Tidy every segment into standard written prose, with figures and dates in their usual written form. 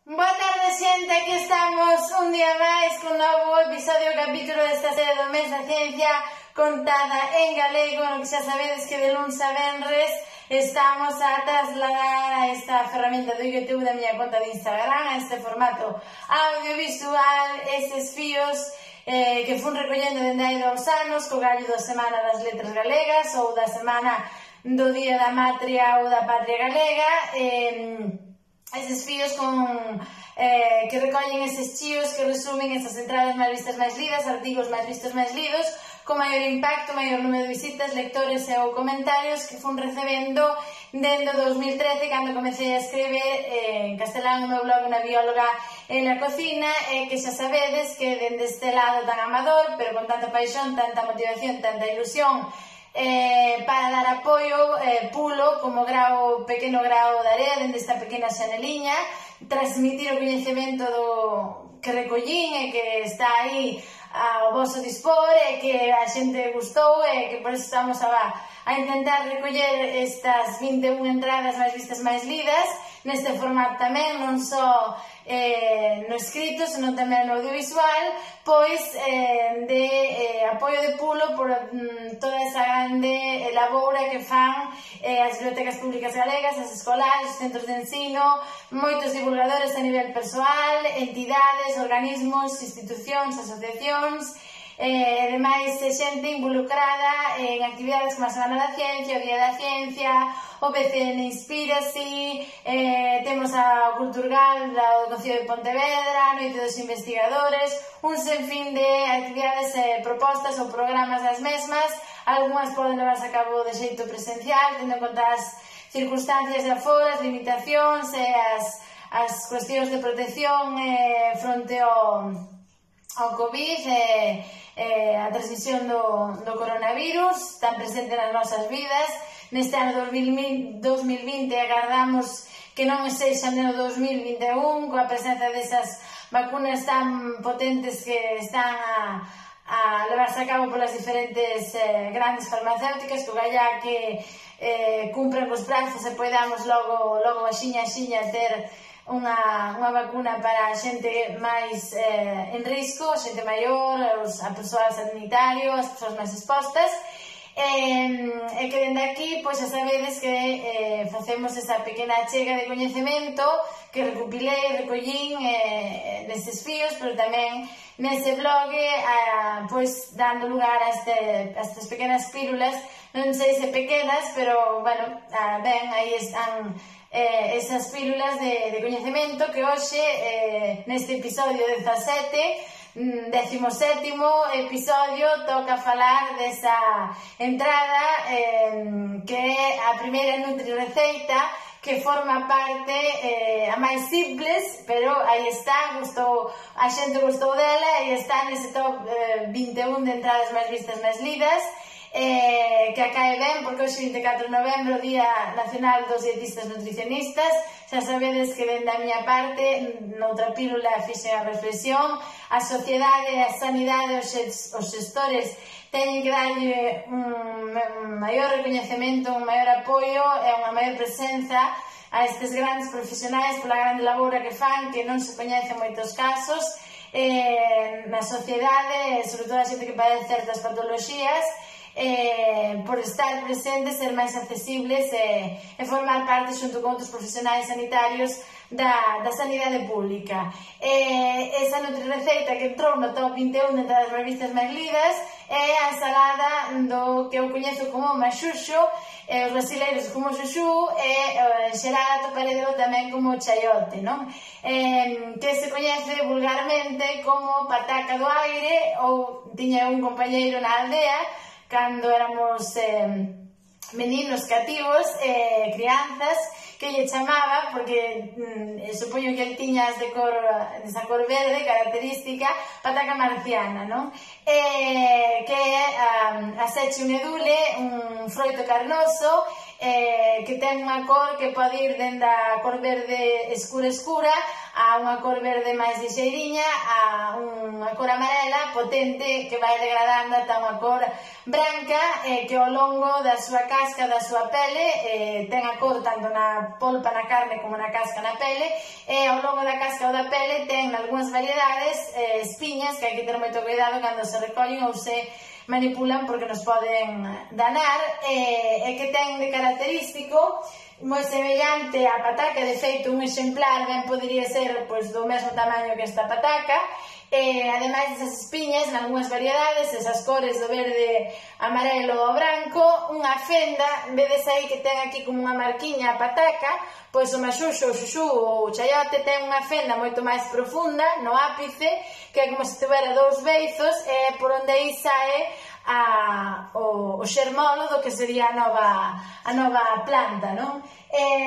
Boa tarde, xente, aquí estamos un día máis con un novo episodio ou capítulo desta serie do mes da ciencia contada en galego, no que xa sabedes que de luns a venres estamos a trasladar a esta ferramenta do YouTube da miña conta de Instagram, a este formato audiovisual, estes fíos que fun recollendo dende hai 2 anos co gallo da Semana das Letras Galegas ou da Semana do Día da Matria ou da Patria Galega. Eses fíos que recollen eses chíos que resumen esas entradas máis vistas máis lidas, artigos máis vistos máis lidos, con maior impacto, maior número de visitas, lectores ou comentarios que fun recebendo dende 2013, cando comecei a escrever en castelán o meu blog Unha bióloga en la cocina, que xa sabedes que dende este lado tan amador, pero con tanta paixón, tanta motivación, tanta ilusión, para dar apoio, pulo como pequeno grao de area dende esta pequena xaneliña, transmitir o coñecemento que recollín e que está aí ao vosso dispor e que a xente gustou e que por eso estamos a intentar recoller estas 21 entradas máis vistas máis lidas neste formato tamén, non só no escrito, senón tamén no audiovisual, pois de apoio de pulo por toda esa grande laboura que fan as bibliotecas públicas galegas, as escolares, os centros de ensino, moitos divulgadores a nivel persoal, entidades, organismos, institucións, asociacións, e demais xente involucrada en actividades como a Semana da Ciencia, o Día da Ciencia, o PCN Inspírase, temos a Culturgal do Concello de Pontevedra, a Noite dos Investigadores, un sinfín de actividades propostas ou programas das mesmas. Algúnas poden levarse a cabo de xeito presencial, tendo en conta as circunstancias de aforo, as limitacións e as cuestións de protección fronte ao COVID, a transmisión do coronavirus tan presente nas nosas vidas. Neste ano 2020 agardamos que non sexa no 2021, coa presenza desas vacunas tan potentes que están a levarse a cabo polas diferentes grandes farmacéuticas, que galla que cumpran os prazos e podamos logo axiña ter unha vacuna para a xente máis en risco, a xente maior, a persoal sanitario, as persoas máis expostas, e que dende aquí, pois xa sabedes que facemos esa pequena achega de coñecemento que recollín neses fíos, pero tamén nese blog, pois dando lugar a estas pequenas pílulas, non sei se pequenas, pero, bueno, ben, aí están esas pílulas de coñecemento que hoxe, neste episodio 17º episodio, toca falar desa entrada que é a primeira Nutri-Receita, que forma parte a máis simples, pero aí está, a xente gustou dela e está nese top 21 de entradas máis vistas máis lidas, que acae ben, porque hoxe 24 de novembro, Día Nacional dos Dietistas Nutricionistas. Xa sabedes que dende a miña parte, noutra pílula fixen a reflexión, a sociedade, a sanidade, os xestores teñen que darlle un maior recoñecemento, un maior apoio e unha maior presenza a estes grandes profesionais pola grande laboura que fan, que non se coñece en moitos casos na sociedade, sobre todo a xente que padece certas patoloxías, por estar presentes, ser máis accesibles e formar parte xunto con outros profesionais sanitarios da sanidade pública. Esa Nutri-Receita que entrou no top 21 de das revistas máis lidas é a ensalada do que eu coñezo como maxuxo, os brasileiros como xuxu, e en xeral atopareo tamén como chayote, non? Que se coñece vulgarmente como pataca do aire, ou tiña un compañeiro na aldea cando éramos meninos cativos, crianzas, que lle chamaba, porque supoño que el tiña desa cor verde característica, pataca marciana, non? Que a seche un edule, un froito carnoso, que ten unha cor que pode ir dende a cor verde escura a unha cor verde máis lixeiriña a unha cor amarela potente que vai degradando ata unha cor branca que ao longo da súa casca, da súa pele ten a cor tanto na polpa, na carne como na casca, na pele, e ao longo da casca ou da pele ten algunhas variedades espiñas que hai que ter moito cuidado cando se recollen ou se manipulan porque nos poden danar e que ten de característico moi semellante á pataca, de feito un exemplar ben podería ser do mesmo tamaño que esta pataca ademais desas espiñas, en algunhas variedades esas cores do verde, amarelo ou branco, unha fenda vedes aí que ten aquí como unha marquiña a pataca, pois o maxuxo, o xuxu ou o chaiote ten unha fenda moito máis profunda no ápice que é como se tivera dous beizos e por onde aí sae o xermolo do que sería a nova planta, non?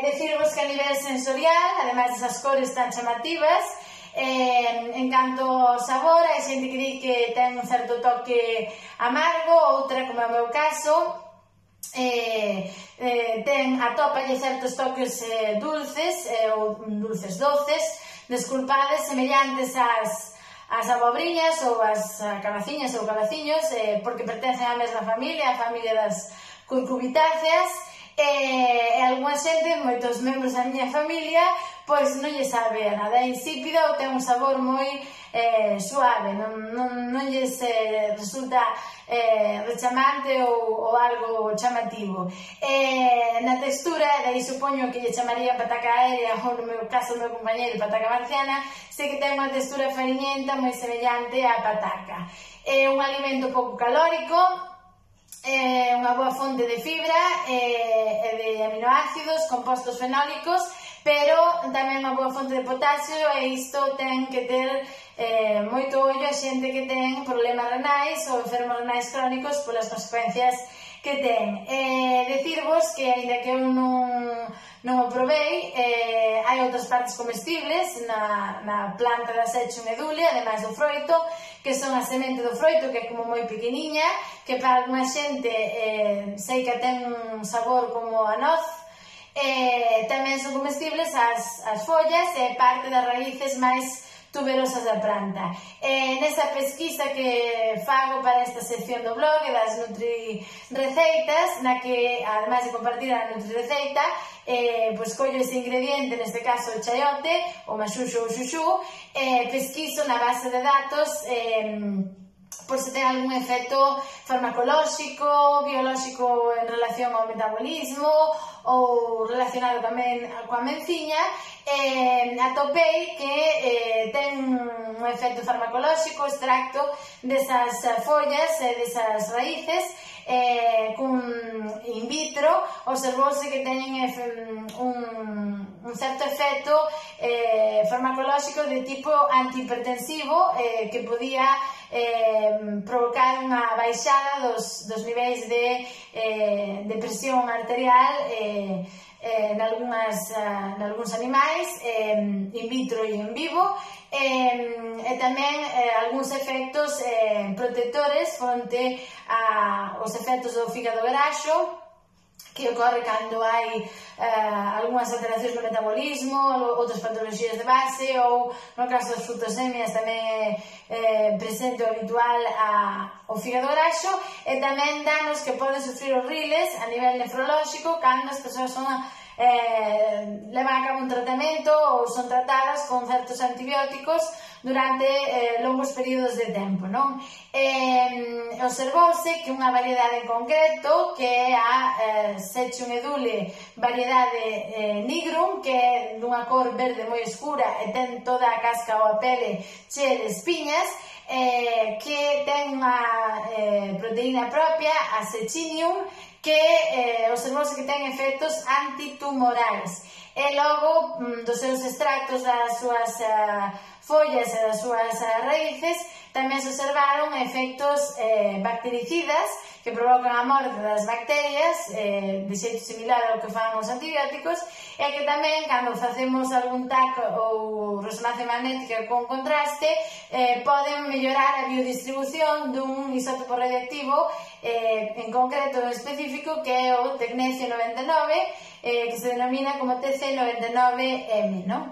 Decirvos que a nivel sensorial, ademais desas cores tan chamativas, en canto ao sabor, hai xente que di que ten un certo toque amargo, outra, como é o meu caso, atópalle certos toques dulces ou dulces doces, desculpades, semellantes ás abobriñas ou ás cabaciñas ou cabaciños, porque pertencen á mesma familia, a familia das cucubitáceas, e algunha xente, moitos membros da miña familia, pois non lle sabe a nada, é insípida ou ten un sabor moi suave, non lles resulta rechamante ou algo chamativo. Na textura, daí supoño que lle chamaría pataca aérea ou no meu caso o meu compañeiro pataca marciana, sei que ten unha textura fariñenta moi semellante á pataca. É un alimento pouco calórico, unha boa fonte de fibra e de aminoácidos, compostos fenólicos, pero tamén unha boa fonte de potasio e isto ten que ter moito ollo a xente que ten problemas renais ou enfermos renais crónicos polas consecuencias que ten. Decirvos que, aínda que eu non o provei, hai outras partes comestibles na planta da Sechum edule, ademais do froito, que son a semente do froito, que é como moi pequeniña, que para alguna xente sei que ten un sabor como a noz, tamén son comestibles as follas e parte das raíces máis tuberosas da planta. Nesa pesquisa que fago para esta sección do blog das Nutri-receitas, na que, ademais de compartir a Nutri-receita, pois collo ese ingrediente, neste caso o chaiote, o maxuxo ou xuxu, pesquiso na base de datos por se ten algún efecto farmacolóxico, biolóxico en relación ao metabolismo ou relacionado tamén coa menciña, atopei que ten un efecto farmacolóxico extracto desas follas e desas raíces in vitro, observouse que teñen un certo efecto farmacolóxico de tipo antihipertensivo que podía provocar unha baixada dos niveis de presión arterial en algúns animais in vitro e en vivo, e tamén algúns efectos protectores fronte aos efectos do fígado graxo que ocorre cando hai algunhas alteracións no metabolismo, outras patoloxías de base, ou no caso das fructosemias tamén é presente o habitual ao fígado graxo, e tamén danos que poden sufrir os riles a nivel nefrolóxico cando as persoas levan a cabo un tratamento ou son tratadas con certos antibióticos durante longos períodos de tempo, non? Observouse que unha variedade en concreto, que é a Sechum edule variedade nigrum, que é dunha cor verde moi escura e ten toda a casca ou a pele chea de espiñas, que ten unha proteína propia, a sechinium, que observouse que ten efectos antitumorais. E logo, dos seus extractos das súas follas e das súas raíces, tamén se observaron efectos bactericidas que provocan a morte das bacterias, de xeito similar ao que fan os antibióticos, e que tamén, cando facemos algún TAC ou resonancia magnética con contraste, poden mellorar a biodistribución dun isótopo radioactivo, en concreto específico, que é o tecnecio 99, que se denomina como TC99M, non?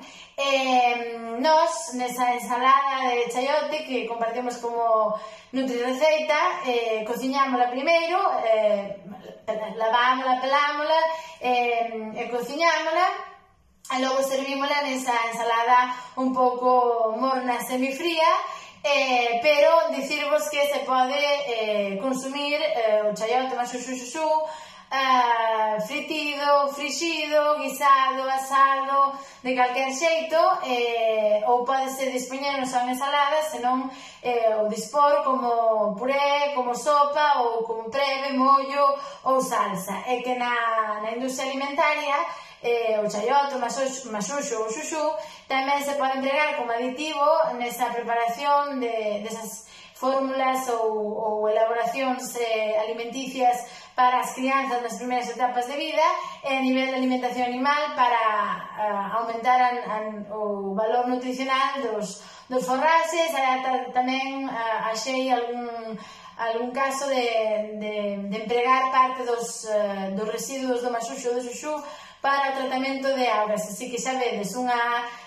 Nos, nesa ensalada de chayote que compartimos como nutrireceita, cociñámola primeiro, lavámola, pelámola e cociñámola, e logo servímola nesa ensalada un pouco morna, semifría, pero dicirvos que se pode consumir o chayote maxuxuxuxu fritido, frixido, guisado, asado, de calquer xeito, ou podese dispoñer non só en ensalada, senón o dispor como puré, como sopa, ou como preve, mollo ou salsa. E que na industria alimentaria o chayote, o maxuxo ou xuxu tamén se pode empregar como aditivo nesa preparación desas fórmulas ou elaboracións alimenticias para as crianzas nas primeiras etapas de vida, e a nivel de alimentación animal para aumentar o valor nutricional dos forraxes. Tamén achei algún caso de empregar parte dos residuos do maxuxo ou do xuxu para o tratamento de augas. Así que xa vedes, unha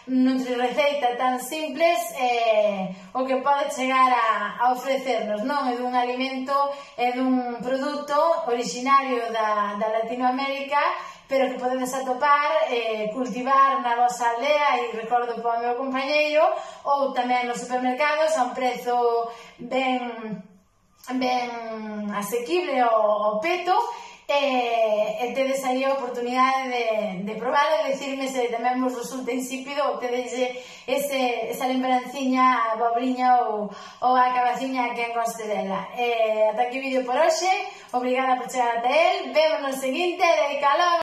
nutrireceita tan simples, o que pode chegar a ofrecernos, non? É dun alimento, é dun produto originario da Latinoamérica, pero que podedes atopar, cultivar na vosa aldea, e recordo para o meu compañeiro, ou tamén nos supermercados a un prezo ben asequible ao peto, e tedes aí a oportunidade de probar e decirme se tamén vos resulta insípido ou tedes esa lembranciña, a bobriña ou a cabaciña que encoste dela. Ata aquí o vídeo por hoxe, obrigada por chegar ata el, vemos no seguinte, de calor!